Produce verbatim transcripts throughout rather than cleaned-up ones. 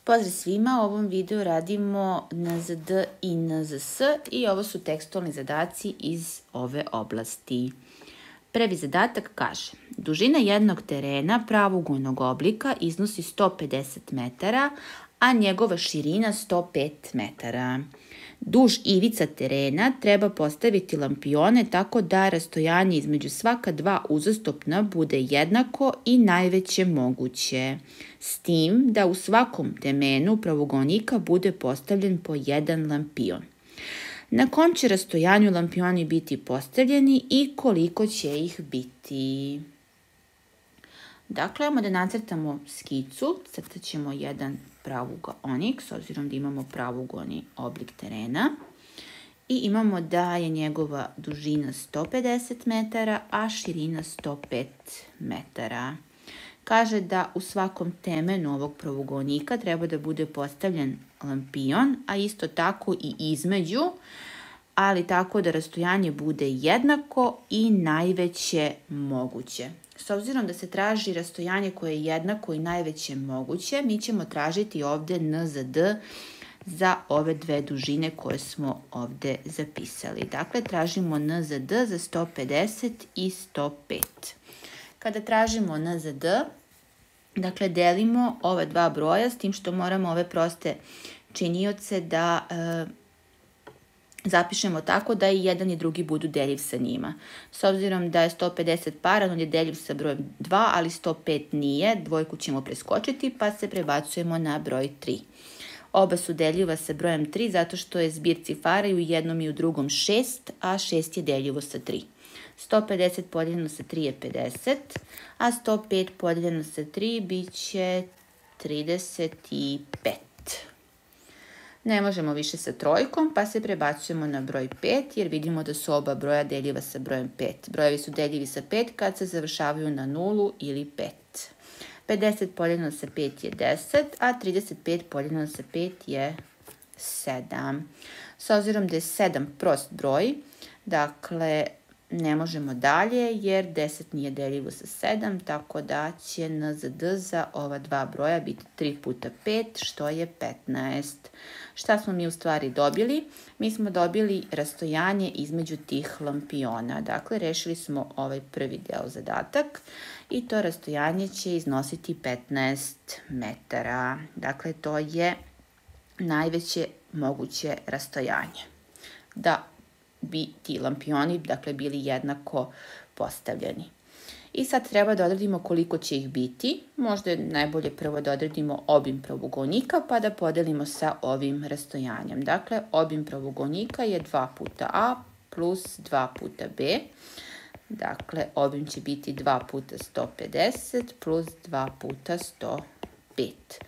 Pozdrav svima, u ovom videu radimo N Z D i N Z S i ovo su tekstualni zadaci iz ove oblasti. Prvi zadatak kaže: dužina jednog terena pravougolnog oblika iznosi sto pedeset metara, a njegova širina sto pet metara. Duž ivica terena treba postaviti lampione tako da rastojanje između svaka dva uzastopna bude jednako i najveće moguće, s tim da u svakom temenu pravougoljnika bude postavljen po jedan lampion. Na kom će rastojanju lampioni biti postavljeni i koliko će ih biti? Dakle, imamo da nacrtamo skicu, crtat ćemo jedan pravougoljnik, s obzirom da imamo pravougoljni oblik terena. I imamo da je njegova dužina sto pedeset metara, a širina sto pet metara. Kaže da u svakom temenu ovog pravougoljnika treba da bude postavljen lampion, a isto tako i između, ali tako da rastojanje bude jednako i najveće moguće. S obzirom da se traži rastojanje koje je jednako i najveće moguće, mi ćemo tražiti ovde N Z D za ove dve dužine koje smo ovde zapisali. Dakle, tražimo N Z D za sto pedeset i sto pet. Kada tražimo N Z D, dakle, delimo ova dva broja, s tim što moramo ove proste činioce da e, zapišemo tako da i jedan i drugi budu deljiv sa njima. S obzirom da je sto pedeset paran, on je deljiv sa brojem dva, ali sto pet nije, dvojku ćemo preskočiti pa se prebacujemo na broj tri. Oba su deljiva sa brojem tri zato što je zbir cifara i u jednom i u drugom šest, a šest je deljivo sa tri. sto pedeset podijeljeno sa tri je pedeset, a sto pet podijeljeno sa tri bit će trideset pet. Ne možemo više sa trojkom, pa se prebacujemo na broj pet, jer vidimo da su oba broja deljiva sa brojem pet. Brojevi su deljivi sa pet kad se završavaju na nulu ili pet. pedeset podijeljeno sa pet je deset, a trideset pet podijeljeno sa pet je sedam. S obzirom da je sedam prost broj, dakle, ne možemo dalje jer deset nije deljivo sa sedam, tako da će N Z D za ova dva broja biti tri puta pet, što je petnaest. Šta smo mi u stvari dobili? Mi smo dobili rastojanje između tih lampiona. Dakle, rešili smo ovaj prvi deo zadatak i to rastojanje će iznositi petnaest metara. Dakle, to je najveće moguće rastojanje. Da bi ti lampioni, dakle, bili jednako postavljeni. I sad treba da odredimo koliko će ih biti. Možda je najbolje prvo da odredimo obim pravougoljnika pa da podelimo sa ovim rastojanjem. Dakle, obim pravougoljnika je dva puta A plus dva puta B. Dakle, obim će biti dva puta sto pedeset plus dva puta sto pet.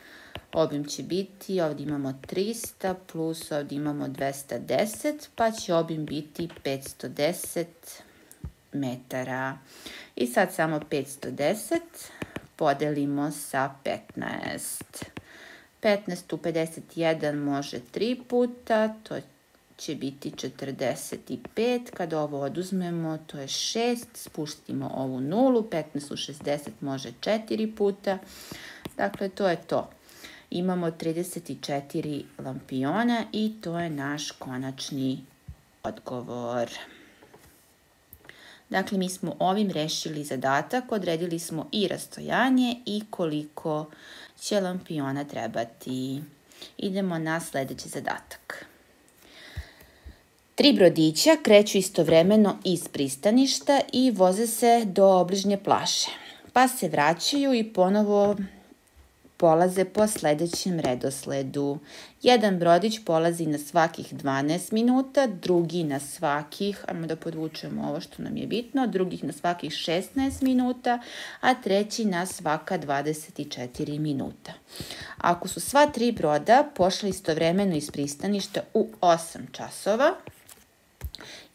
Obim će biti, ovdje imamo trista plus ovdje imamo dvesta deset, pa će obim biti petsto deset metara. I sad samo petsto deset podelimo sa petnaest. petnaest u pedeset jedan može tri puta, to će biti četrdeset pet. Kada ovo oduzmemo, to je šest, spustimo ovu nulu, petnaest u šezdeset može četiri puta. Dakle, to je to. Imamo trideset četiri lampiona i to je naš konačni odgovor. Dakle, mi smo ovim rešili zadatak, odredili smo i rastojanje i koliko će lampiona trebati. Idemo na sledeći zadatak. Tri brodića kreću istovremeno iz pristaništa i voze se do obližnje plaže, pa se vraćaju i ponovo polaze po sledećem redosledu. Jedan brodić polazi na svakih dvanaest minuta, drugi na svakih, ajmo da podvučemo ovo što nam je bitno, drugih na svakih šesnaest minuta, a treći na svaka dvadeset četiri minuta. Ako su sva tri broda pošla istovremeno iz pristaništa u osam časova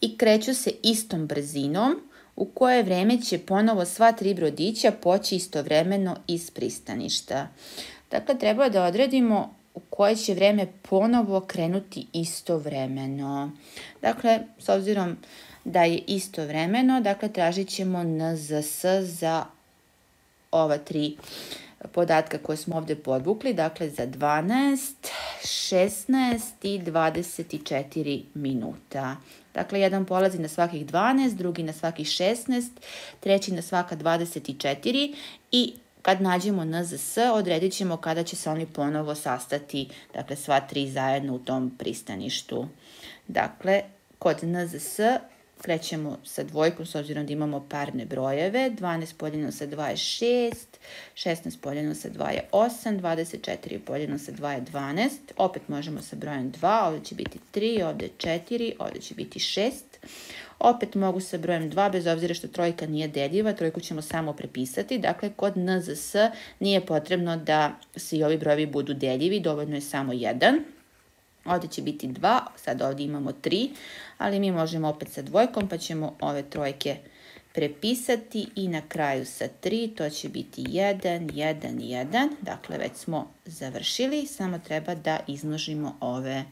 i kreću se istom brzinom, u koje vreme će ponovo sva tri brodića poći istovremeno iz pristaništa. Dakle, treba da odredimo u koje će vreme ponovo krenuti istovremeno. Dakle, s obzirom da je istovremeno, dakle, tražit ćemo N Z S za ova tri podatka koje smo ovdje podvukli, dakle za dvanaest, šesnaest i dvadeset četiri minuta. Dakle, jedan polazi na svakih dvanaest, drugi na svakih šesnaest, treći na svaka dvadeset četiri i kad nađemo N Z S, odredit ćemo kada će se oni ponovo sastati, dakle sva tri zajedno u tom pristaništu. Dakle, kod N Z S krećemo sa dvojkom s obzirom da imamo parne brojeve. dvanaest podijeljeno sa dva je šest, šesnaest podijeljeno sa dva je osam, dvadeset četiri podijeljeno sa dva je dvanaest. Opet možemo sa brojem dva, ovdje će biti tri, ovdje četiri, ovdje će biti šest. Opet mogu sa brojem dva, bez obzira što trojka nije deljiva, trojku ćemo samo prepisati. Dakle, kod N Z S nije potrebno da svi ovi brojevi budu deljivi, dovoljno je samo jedan. Ovdje će biti dva, sad ovdje imamo tri, ali mi možemo opet sa dvojkom, pa ćemo ove trojke prepisati i na kraju sa tri, to će biti jedan, jedan, jedan. Dakle, već smo završili, samo treba da izmnožimo ove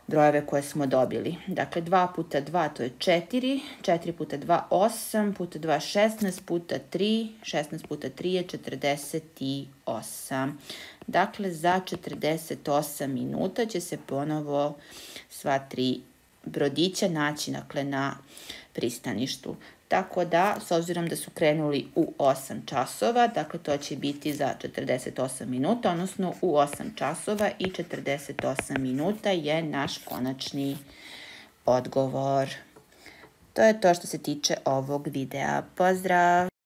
brojeve koje smo dobili. Dakle, dva puta dva to je četiri, četiri puta dva osam, puta dva šesnaest, puta tri, šesnaest puta tri je četrdeset osam. Dakle, za četrdeset osam minuta će se ponovo sva tri brodića naći, dakle, na pristaništu. Tako da, s obzirom da su krenuli u osam časova, dakle to će biti za četrdeset osam minuta, odnosno u osam časova i četrdeset osam minuta je naš konačni odgovor. To je to što se tiče ovog videa. Pozdrav!